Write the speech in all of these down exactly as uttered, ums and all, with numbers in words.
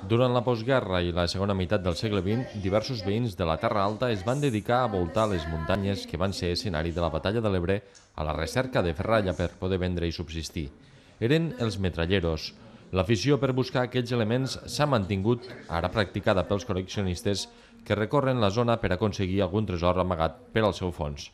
Durant la postguerra i la segona meitat del segle vint, diversos veïns de la Terra Alta es van dedicar a voltar les muntanyes que van ser escenari de la batalla de l'Ebre a la recerca de ferralla per poder vendre i subsistir. Eren els metralleros. L'afició per buscar aquests elements s'ha mantingut, ara practicada pels col·leccionistes que recorren la zona per aconseguir algun tresor amagat per al seu fons.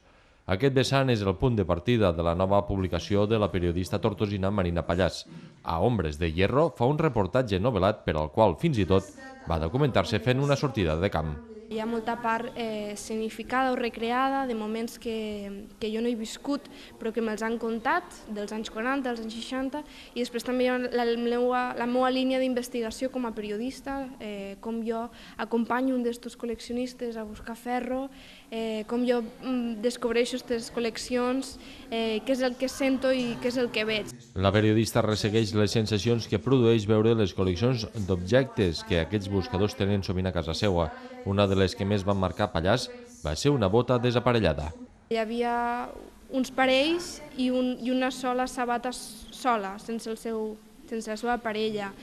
Aquest vessant és el punt de partida de la nova publicació de la periodista tortosina Marina Pallàs. A Ombres de Hierro fa un reportatge novel·lat per al qual fins i tot va documentar-se fent una sortida de camp. Hi ha molta part eh, escenificada o recreada de moments que, que jo no he viscut però que me'ls han contat, dels anys quaranta, dels anys seixanta, i després també hi ha la, la, meua, la meva línia d'investigació com a periodista, eh, com jo acompanyo un d'estos col·leccionistes a buscar ferro, eh, com jo mm, descobreixo aquestes col·leccions, eh, què és el que sento i què és el que veig. La periodista ressegueix les sensacions que produeix veure les col·leccions d'objectes que aquests buscadors tenen sovint a casa seva. Una de les que més van marcar Pallàs va ser una bota desaparellada. Hi havia uns parells i, un, i una sola sabata sola, sense, el seu, sense la seva parella.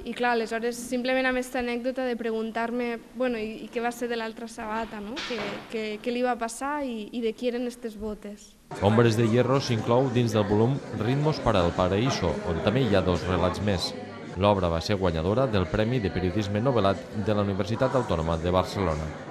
I clar, aleshores, simplement amb aquesta anècdota de preguntar-me bueno, i, i què va ser de l'altra sabata, no? què, què, què li va passar i, i de qui eren aquestes botes. Ombres de Hierro s'inclou dins del volum Ritmos para el Paraíso, on també hi ha dos relats més. L'obra va ser guanyadora del Premi de Periodisme Novel·lat de la Universitat Autònoma de Barcelona.